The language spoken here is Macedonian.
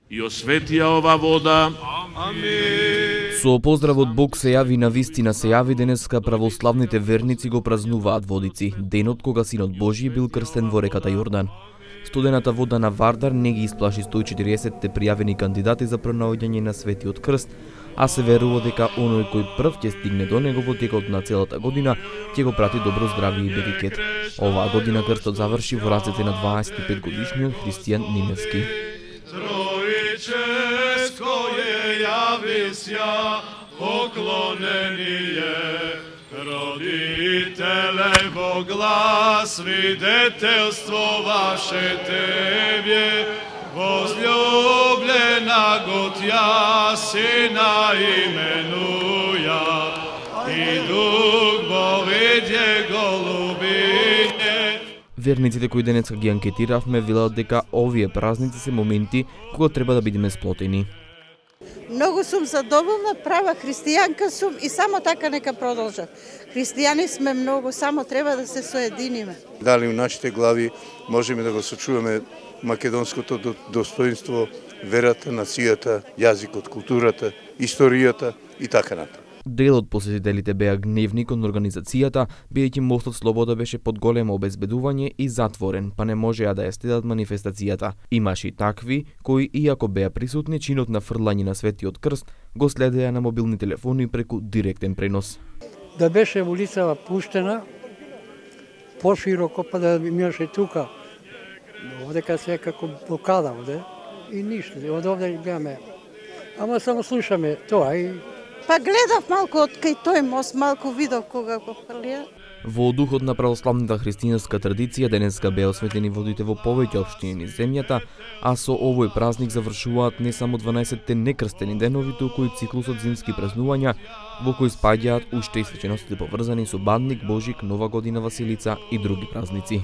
и осветија ова вода. Амин. Со поздрав од Бог се јави на вистина се јави денеска православните верници го празнуваат Водици, денот кога Синот Божји бил крстен во реката Јордан. Студената вода на Вардар не ги исплаши 140-те пријавени кандидати за пронаоѓање на Светиот крст, а се верува дека оној кој прв ќе стигне до него во текот на целата година ќе го прати добро здравје и берекет. Оваа година крстот заврши во рацете на 25 годишниот Христијан Ниневски. Троическое јавися, поклонение, родителе во глас, свидетелство ваше Тебе, возлюблена го Тја, Сина именуја, и Дух Бовидје голубиње. Верниците кои денеска ги анкетиравме велат дека овие празници се моменти кога треба да бидеме сплотени. Многу сум задоволна, права христијанка сум и само така нека продолжат. Христијани сме многу, само треба да се соединиме. Дали у нашите глави можеме да го сочуваме македонското достоинство, верата, нацијата, јазикот, културата, историјата и така натаму. Дел од посетителите беа гневни кон организацијата, бидејќи мостот Слобода беше под големо обезбедување и затворен, па не можеа да ја следат манифестацијата. Имаше и такви кои, иако беа присутни, чинот на фрлање на Светиот крст го следеа на мобилни телефони преку директен пренос. Да беше улицава пуштена пошироко, па да имаше тука. Овдека се како блокада овде и ништо. Од овде гледаме. Ама само слушаме тоа и Па гледав малку од кај тој мост, малку видов кога го фрлија. Во духот на православната христијанска традиција денеска беа осветени водите во повеќе општини низ земјата, а со овој празник завршуваат не само 12-те некрстени денови, туку и циклусот зимски празнувања, во кои спаѓаат уште и свеченостите поврзани со Бадник, Божик, Нова година, Василица и други празници.